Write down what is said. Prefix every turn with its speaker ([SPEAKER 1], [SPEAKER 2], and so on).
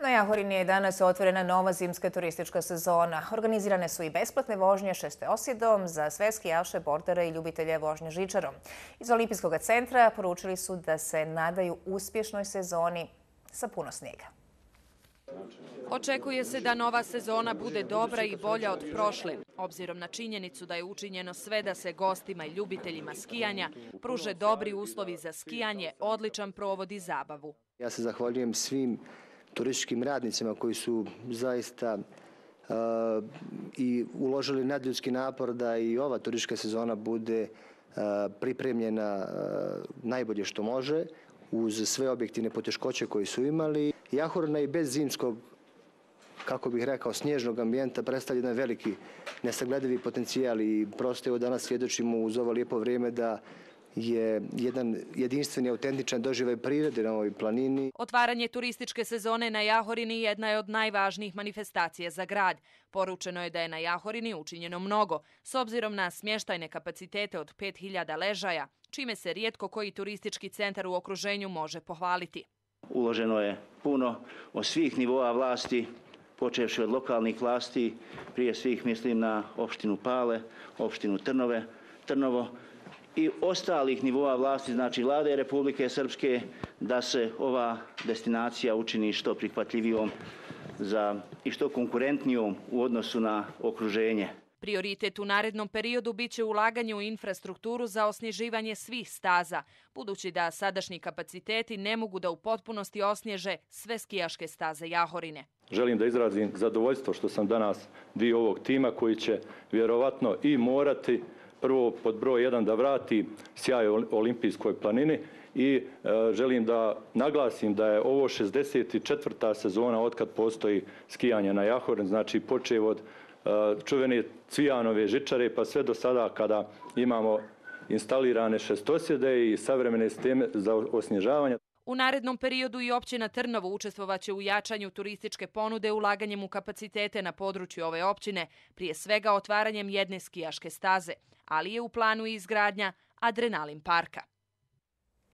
[SPEAKER 1] Na Jahorini je danas otvorena nova zimska turistička sezona. Organizirane su i besplatne vožnje šesteosjedom za sve skijaše, bordere i ljubitelje vožnje žičarom. Iz Olimpijskog centra poručili su da se nadaju uspješnoj sezoni sa puno snijega.
[SPEAKER 2] Očekuje se da nova sezona bude dobra i bolja od prošle, obzirom na činjenicu da je učinjeno sve da se gostima i ljubiteljima skijanja pruže dobri uslovi za skijanje, odličan provod i zabavu.
[SPEAKER 3] Ja se zahvaljujem svim turističkim radnicima koji su zaista i uložili nadljudski napor da i ova turistička sezona bude pripremljena najbolje što može, uz sve objektivne poteškoće koje su imali. Jahorina i bez zimskog, kako bih rekao, snježnog ambijenta predstavlja jedan veliki nesagledivi potencijal i prosto evo danas svjedočimo uz ovo lijepo vrijeme da je jedan jedinstveni, autentičan doživljaj prirode na ovoj planini.
[SPEAKER 2] Otvaranje turističke sezone na Jahorini jedna je od najvažnijih manifestacija za grad. Poručeno je da je na Jahorini učinjeno mnogo, s obzirom na smještajne kapacitete od 5000 ležaja, čime se rijetko koji turistički centar u okruženju može pohvaliti.
[SPEAKER 4] Uloženo je puno od svih nivoa vlasti, počevši od lokalnih vlasti, prije svih mislim na opštinu Pale, opštinu Trnovo i ostalih nivoa vlasti, znači Vlade Republike Srpske, da se ova destinacija učini što prihvatljivijom i što konkurentnijom u odnosu na okruženje.
[SPEAKER 2] Prioritet u narednom periodu biće ulaganje u infrastrukturu za osnježivanje svih staza, budući da sadašnji kapaciteti ne mogu da u potpunosti osnježe sve skijaške staze Jahorine.
[SPEAKER 5] Želim da izrazim zadovoljstvo što sam danas dio ovog tima koji će vjerovatno i morati prvo pod broj 1 da vrati sjaj Olimpijskoj planini i želim da naglasim da je ovo 64. sezona otkad postoji skijanje na Jahorini, znači počev od čuvene Cvijanove žičare pa sve do sada kada imamo instalirane šestosjede i savremene sisteme za osnježavanje.
[SPEAKER 2] U narednom periodu i općina Trnovo učestvovaće u jačanju turističke ponude ulaganjem u kapacitete na području ove općine, prije svega otvaranjem jedne skijaške staze, ali je u planu i izgradnja adrenalin parka.